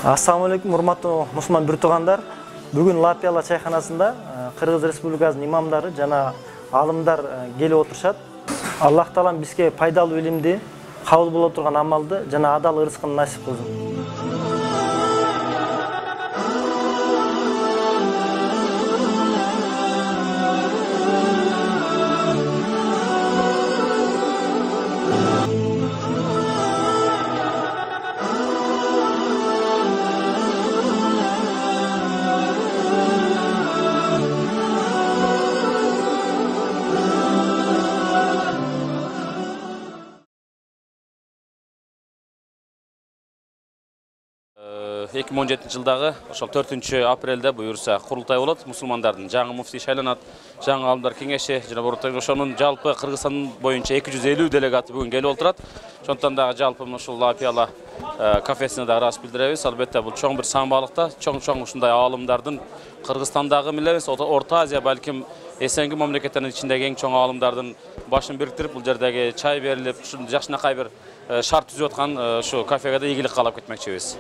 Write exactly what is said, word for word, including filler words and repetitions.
Ассаламу алейкум, урматтуу мусулман бир туугандар. Бүгүн Лапияла чайханасында Кыргыз Республикасынын имамдары жана алымдар келип отурушат. Аллах Таалам бизге пайдалуу илимди, кабыл боло турган амалды жана адал ырыскын насип кылсын. эки миң он жетинчи жылдагы ошол төртүнчү апрелде буюрса курултай болот. Мусулмандардын жаңы муфтий шайланат, жаңы алымдар кеңеши жана бороттой ошонун жалпы Кыргызстан боюнча эки жүз элүү делегаты бүгүн келип отурат. Ошондон дагы жалпы ушул Лапияла кафесине дагы ыраазычылык билдиребиз. Албетте бул чоң бир самбалыкта, чоң-чоң ушундай алымдардын Кыргызстандагы эмес, Орто Азия балким эсенги мамлекеттердин ичиндеги эң чоң алымдардын башын бириктирип, бул жердеги чай берилип, ушундай жакшынакай бир шарт түзүп аткан ушу кафеге да ийгилик каалап кетмекчибиз.